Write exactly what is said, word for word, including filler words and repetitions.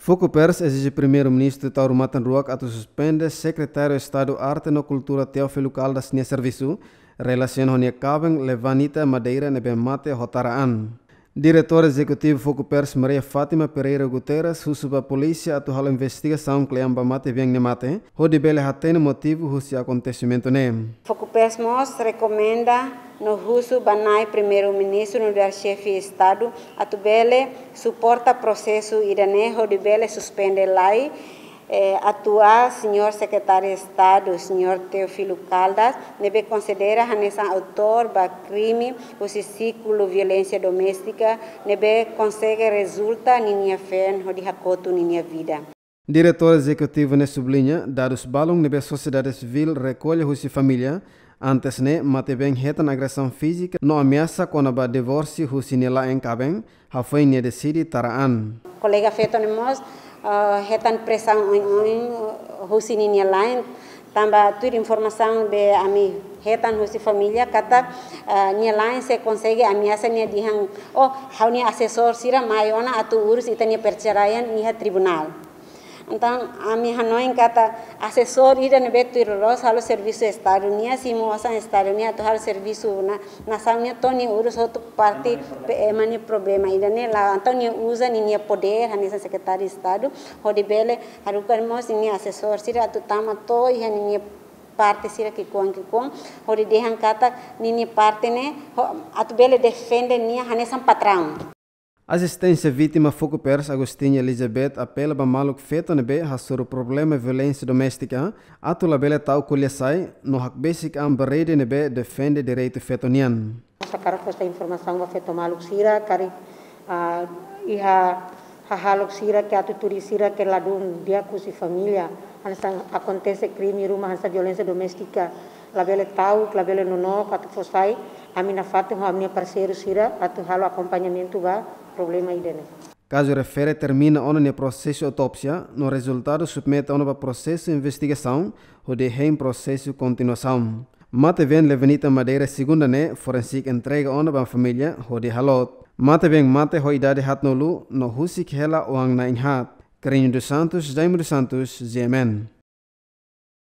Fokupers ezije Primeiru-Ministru Taur Matan Ruak atu suspende Sekretáriu Estadu Arte no Kultura Teófilo Caldas nia servisu, relasiona ho nia kaben Levanita Madeira ne'ebé mate ho tara an. Diretór Ezekutivu Fokupers Maria Fátima Pereira Guterres husu ba polísia atu halo investigasaun kle'an ba matebian ne'e mate, hodi bele hatene motivu husi akontesimentu ne'e. Fokupers mós rekomenda no husu ba Na'i Primeiru-Ministru nu'udar Xefe Estadu atu bele suporta prosesu ida-ne'e hodi bele suspende lai, eh, atuál Señór Sekretáriu Estadu, Señór Teófilo Caldas, ne'ebé konsidera hanesan autór ba krime husi siklu violénsia doméstika ne'ebé konsege rezulta ninia feen hodi hakotu ninia vida. Diretór Ezekutivu ne'e subliña, dadus balun ne'ebé sosiedade sivíl rekolla husi família, antes ne'e matebian hetan agresaun fízika no ameasa kona-ba divórsiu husi nia la'en kaben, hafoin nia deside tara an. Kolega feto ne'e mós, ah, hetan presaun oioin, oioin, ah, husi ninia la'en, tanba tuir informasaun ne'ebé ami hetan husi família katak, ah, nia la'en sei konsege ameasa nia dehan, "Oh, ha'u-nia asesór sira mai ona atu urus ita-nia perceraian iha tribunál." Entaun, ami hanoin katak asesór ida ne'ebé tuir loloos halo servisu Estadu nian, simu osan Estadu nian atu halo servisu na, nasaun nian, to'o nia urus hotu parte pe-, ema nia problema ida-ne'e la'o. Entaun nia uza ninia podér hanesan Sekretáriu Estadu, hodi bele haruka mós ninia asesór sira atu tama to'o iha ninia parte sira ki'ikoan ki'ikoan, hodi dehan katak ninia parte ne'e, ho, atu bele defende nia hanesan patraun. Asisténsia vítima Fokupers Agostinha Elizabeth apela ba maluk feto ne'ebé hasoru problema violénsia doméstika atu labele tau ko'alia sai no hakbesik an ba rede ne'ebé defende direitu feto nian. Hakarak fó sai informasaun ba feto maluk sira karik, ah, iha hahalok sira ke atu tuir sira ke ladún di'ak husi família, hanesan akontese krime ruma hanesan violénsia doméstika, labele ta'uk, labele nonook atu fó sai, ami nafatin ho ami-nia parseiru sira atu halo akompañamentu ba problema ida-ne'e. Kazu refere termina ona nia prosesu autópsia, no rezultadu submete ona ba prosesu investigasaun, hodi hein prosesu kontinuasaun. Matebian Levanita Madeira Segunda ne'e forensik entrega ona ba família, hodi haloot. Matebian mate ho idade haatnulu, no husik hela oan na'in-haat. Carreño dos Santos, Jaime dos Santos, G M N.